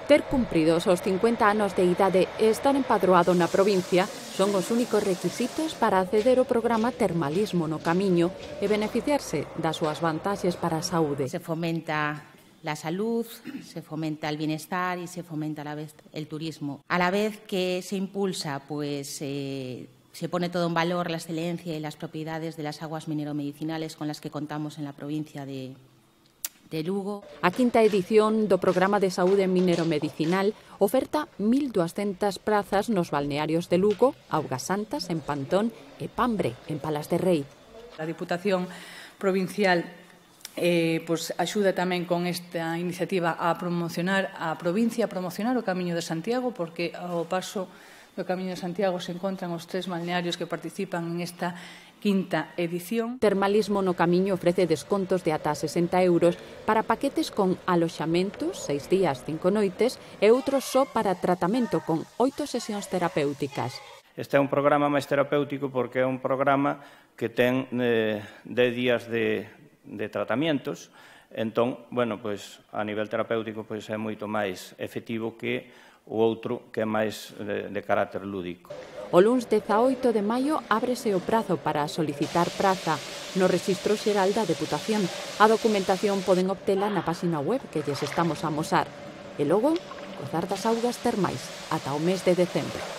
Ter cumpridos os 50 anos de idade e estar empadroado na provincia son os únicos requisitos para acceder ao programa Termalismo no Camiño e beneficiarse das súas vantaxes para a saúde. Se fomenta la salud, se fomenta el bienestar y se fomenta a la vez el turismo. A la vez que se impulsa, se pone todo en valor la excelencia y las propiedades de las aguas mineromedicinales con las que contamos en la provincia de Lugo. A quinta edición do Programa de Saúde Mineromedicinal oferta 1.200 prazas nos balnearios de Lugo, Augas Santas, en Pantón e Pambre, en Palas de Rei. A Diputación Provincial axuda tamén con esta iniciativa a promocionar a provincia, a promocionar o Camiño de Santiago, porque ao paso do Camiño de Santiago se encontran os 3 balnearios que participan en esta quinta edición. Termalismo no Camiño ofrece descontos de ata 60 euros para paquetes con aloxamentos, 6 días, 5 noites, e outros só para tratamento con 8 sesións terapéuticas. Este é un programa máis terapéutico porque é un programa que ten 10 días de tratamientos. Entón, a nivel terapéutico é moito máis efectivo que o outro que é máis de carácter lúdico. O luns 18 de maio ábrese o prazo para solicitar praza no Rexistro Xeral da Deputación. A documentación poden obtela na página web que lles estamos a amosar. E logo, gozar das augas termais ata o mes de decembro.